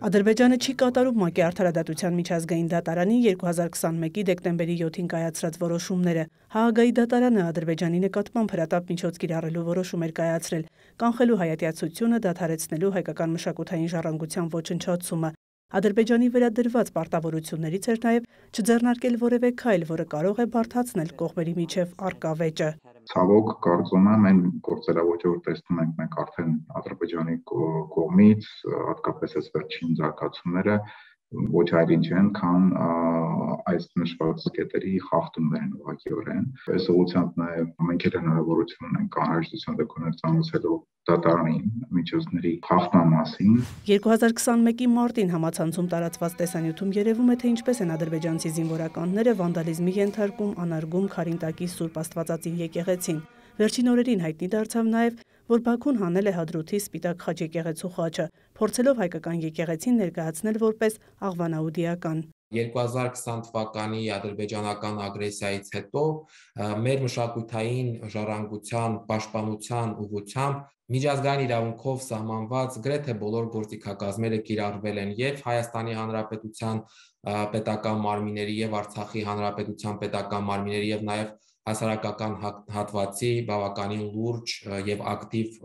Ադրբեջանը չի կատարում ՄԱԿ-ի Արդարադատության միջազգային դատարանի 2021-ի դեկտեմբերի 7-ին կայացրած որոշումները։ Հաագայի դատարանը Ադրբեջանի նկատմամբ հրատապ միջոց կիրառելու որոշում էր կայացրել, կանխելու հայատյացությունը, դադարեցնելու հայկական մշակութային ժառանգության ոչնչացումը։ Ադրբեջանի վրա դրված պարտավորություններից էր նաև չձեռնարկել որևէ քայլ, որը կարող է բարդացնել կողմերի միջև առկա վեճը։ Ցավոք, կարծում եմ, այն գործելավոճը, որ տեսնում ենք մենք արդեն Ադրբեջանի կողմից, հատկապես այս վերջին զարգացումները, ոչ այլ ինչ են, քան այս նշված կետերի խախտումներ են ուղղակիորեն։ Այս ուղղությամբ նաև մենք էլ հնարավորություն ունենք անհրաժեշտության դեպքում ծանոթացելու դատարանի միջոցների խախտման մասին։ 2021-ի մարտին համացանցում տարածված տեսանյութում երևում է, թե ինչպես են ադրբեջանցի զինվորականները վանդալիզմի ենթարկում անարգում Քարինտակի Սուրբ Աստվածածին եկեղեցին։ Վերջին օրերին հայտնի դարձավ նաև, որ Բաքուն հանել է Հադրութի Սպիտակ խաչ եկեղեցու խաչը, փորձելով հայկական եկեղեցին ներկայացնել որպես աղվանաուդիական։ 2020 թվականի ադրբեջանական ագրեսիայից հետո մեր մշակութային ժառանգության պաշտպանության ուղղությամբ միջազգային իրավունքով սահմանված գրեթե բոլոր գործիքակազմերը կիրառվել են եւ Հայաստանի Հանրապետության պետական մարմինների եւ Արցախի Հանրապետության պետական մարմինների եւ նաեւ հասարակական հատվածի բավականին լուրջ եւ ակտիվ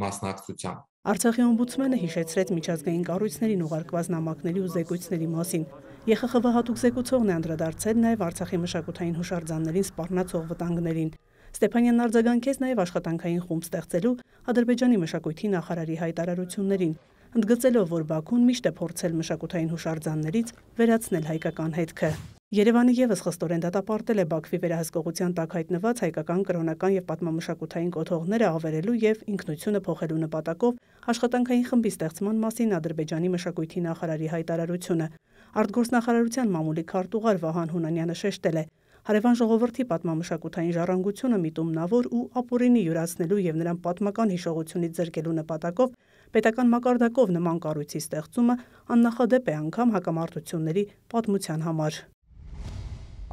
մասնակցությամբ։ Արցախի օմբուդսմենը հիշեցրեց միջազգային կառույցներին ուղարկված նամակների ու զեկույցների մասին։ ԵԽԽՎ հատուկ զեկուցողն է անդրադարձել նաև Արցախի մշակութային հուշարձաններին սպառնացող վտանգներին։ Ստեփանյանն արձագանքեց նաև աշխատանքային խումբ ստեղծելու Ադրբեջանի մշակույթի նախարարի հայտարարություններին, ընդգծելով, որ Բաքուն միշտ է փորձել մշակութային հուշարձաններից վերացնել հայկական հետքը։ Երևանը եւս խստորեն դատապարտել է Բաքվի վերահսկողության տակ հայտնված հայկական կրոնական եւ պատմամշակութային կոթողները ավերելու եւ ինքնությունը փոխելու նպատակով աշխատանքային խմբի ստեղծման մասին Ադրբեջանի մշակույթի նախարարի հայտարարությունը։ Արտգործնախարարության մամուլի քարտուղար Վահան Հունանյանը շեշտել է. հարևան ժողովրդի պատմամշակութային ժառանգությունը միտումնավոր ու ապօրինի յուրացնելու եւ նրան պատմական հիշողությունից զրկելու նպատակով պետական մակարդակով նման կառույցի ստեղծումը աննախադեպ է անգամ հակամարտությունների պատմության համար։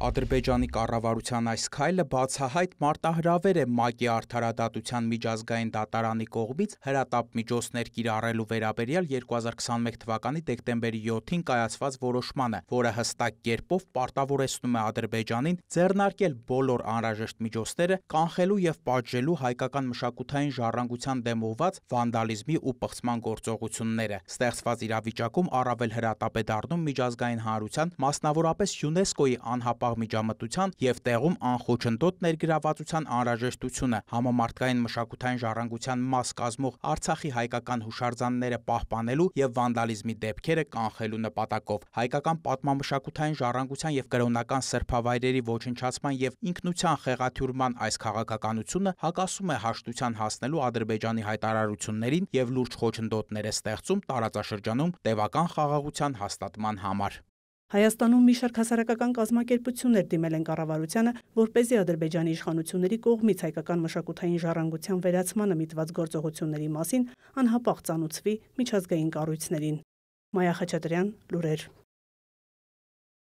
Ադրբեջանի կառավարության այս քայլը բացահայտ մարտահրավեր է ՄԱԿ-ի Արդարադատության միջազգային դատարանի կողմից հրատապ միջոցներ կիրառելու վերաբերյալ 2021 թվականի դեկտեմբերի 7-ին կայացված որոշմանը, որը հստակ կերպով պարտավորեցնում է Ադրբեջանին ձեռնարկել բոլոր անհրաժեշտ միջոցները կանխելու եւ պատժելու հայկական մշակութային ժառանգության դեմ ուղղված վանդալիզմի ու պղծման գործողությունները։ Ստեղծված իրավիճակում առավել հրատապ է դառնում միջազգային հանրության, մասնավորապես ՅՈՒՆԵՍԿՕ-ի անհապաղ միջամտության եւ տեղում անխոչնդոտ ներգրավվածության անհրաժեշտությունը համամարտկային մշակութային ժառանգության մաս կազմող Արցախի հայկական հուշարձանները պահպանելու եւ վանդալիզմի դեպքերը կանխելու նպատակով։ Հայկական պատմամշակութային ժառանգության եւ կրոնական սրբավայրերի ոչնչացման եւ ինքնության խեղաթյուրման այս քաղաքականությունը հակասում է հաշտության հասնելու Ադրբեջանի հայտարարություններին եւ լուրջ խոչընդոտներ է ստեղծում տարածաշրջանում տևական խաղաղության հաստատման համար։ Հայաստանում մի շարք հասարակական կազմակերպություններ դիմել են կառավարությանը, որպեսզի Ադրբեջանի իշխանությունների կողմից հայկական մշակութային ժառանգության վերացմանը միտված գործողությունների մասին անհապաղ ծանուցվի միջազգային կառույցներին։ Մայա Խաչատրյան, լուրեր։